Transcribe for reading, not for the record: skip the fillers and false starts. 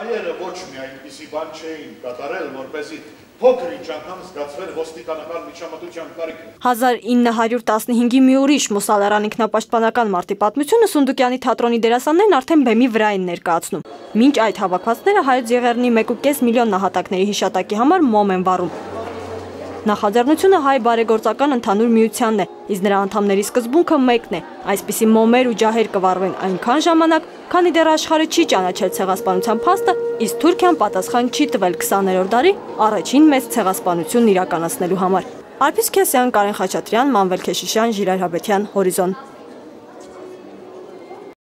Հայերը ոչ մի այնպիսի բան չէին կատարել, որպեսզի փոքր-ինչ անգամ զգացվեր ոստիկանական միջամտության կարիքը։ 1915-ի մի ուրիշ Մուսալարան ինքնապաշտպանական մարտի պատմությունը Սունդուկյանի թատրոնի դերասաններն արդեն բեմի վրա են ներկայացնում։ Մինչ այդ հավաքվածները Հայոց Եղեռնի 1.5 միլիոն նահատակների հիշատակի համար մոմ են վառում։ Նախաձեռնությունը հայ բարեգործական ընդհանուր միությանն է, իսկ նրա անդամների սկզբունքը մեկն է։ Այսպիսի մոմեր ու ջահեր կվառվեն այնքան ժամանակ, քանի դեռ աշխարհը չի ճանաչել ցեղասպանության փաստը, իսկ Թուրքիան պատասխան չի տվել 20-րդ դարի առաջին մեծ ցեղասպանությունն իրականացնելու համար։ Արփիս Քեսյան, Կարեն Խաչատրյան, Մանվել Քեշիշյան, Ժիրայր Հաբետյան, Հորիզոն։